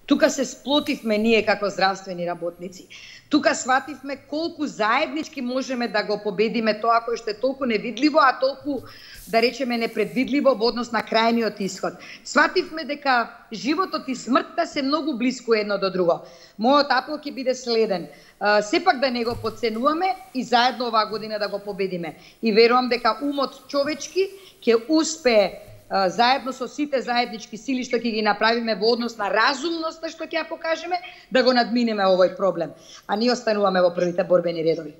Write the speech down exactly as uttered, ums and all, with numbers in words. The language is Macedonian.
Тука се сплотивме ние како здравствени работници. Тука свативме колку заеднички можеме да го победиме тоа кој што е толку невидливо, а толку, да речеме, непредвидливо во однос на крајниот исход. Свативме дека животот и смртта се многу блиску едно до друго. Мојот апел ќе биде следен. Сепак да не го подценуваме и заедно оваа година да го победиме. И верувам дека умот човечки ќе успее заедно со сите заеднички сили што ќе ги направиме во однос на разумноста што ќе ја покажеме, да го надминеме овој проблем. А ние остануваме во првите борбени редови.